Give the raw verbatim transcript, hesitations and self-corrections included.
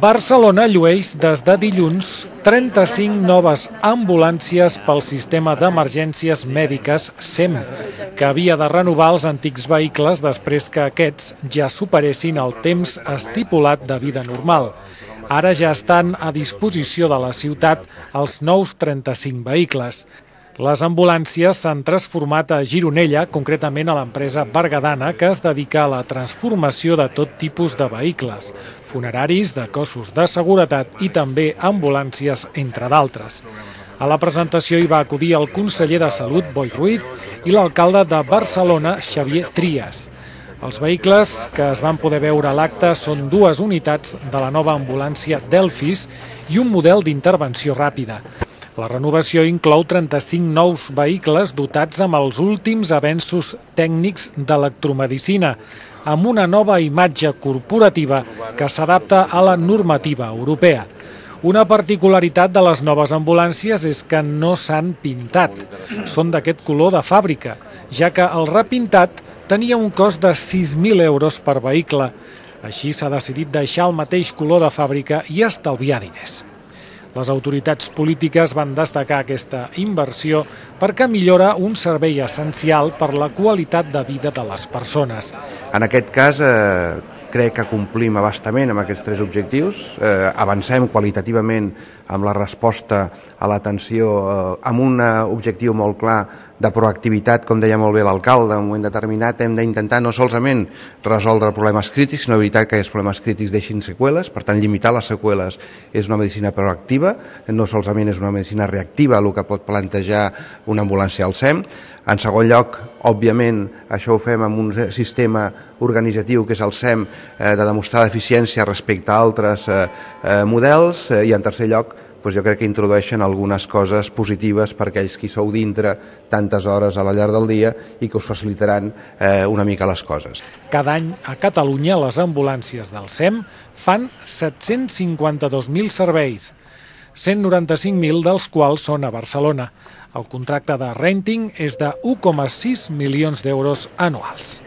Barcelona llueix des de dilluns trenta-cinc noves ambulàncies pel sistema d'emergències mèdiques S E M, que havia de renovar els antics vehicles després que aquests ja superessin el temps estipulat de vida normal. Ara ja estan a disposició de la ciutat els nous trenta-cinc vehicles. Les ambulàncies s'han transformat a Gironella, concretament a l'empresa berguedana, que es dedica a la transformació de tot tipus de vehicles, funeraris, de cossos de seguretat i també ambulàncies, entre d'altres. A la presentació hi va acudir el conseller de Salut, Boi Ruiz, i l'alcalde de Barcelona, Xavier Trias. Els vehicles que es van poder veure a l'acte són dues unitats de la nova ambulància Delfis i un model d'intervenció ràpida. La renovació inclou trenta-cinc nous vehicles dotats amb els últims avenços tècnics d'electromedicina, amb una nova imatge corporativa que s'adapta a la normativa europea. Una particularitat de les noves ambulàncies és que no s'han pintat. Són d'aquest color de fàbrica, ja que el repintat tenia un cost de sis mil euros per vehicle. Així s'ha decidit deixar el mateix color de fàbrica i estalviar diners. Les autoritats polítiques van destacar aquesta inversió perquè millora un servei essencial per la qualitat de vida de les persones. En aquest cas, eh, crec que complim abastament amb aquests tres objectius. Eh, avancem qualitativament amb la resposta a l'atenció eh, amb un objectiu molt clar de proactivitat, com deia molt bé l'alcalde. En un moment determinat hem d'intentar no solament resoldre problemes crítics, sinó evitar que aquests problemes crítics deixin seqüeles. Per tant, limitar les seqüeles és una medicina proactiva, no solament és una medicina reactiva, el que pot plantejar una ambulància al S E M. En segon lloc, òbviament, això ho fem amb un sistema organitzatiu que és el S E M, eh, de demostrar l'eficiència respecte a altres eh, eh, models, eh, i en tercer lloc, doncs jo crec que introdueixen algunes coses positives per aquells qui sou dintre tantes hores a la llarg del dia i que us facilitaran eh, una mica les coses. Cada any a Catalunya les ambulàncies del S E M fan set-cents cinquanta-dos mil serveis, cent noranta-cinc mil dels quals són a Barcelona. El contracte de renting és de u coma sis milions d'euros anuals.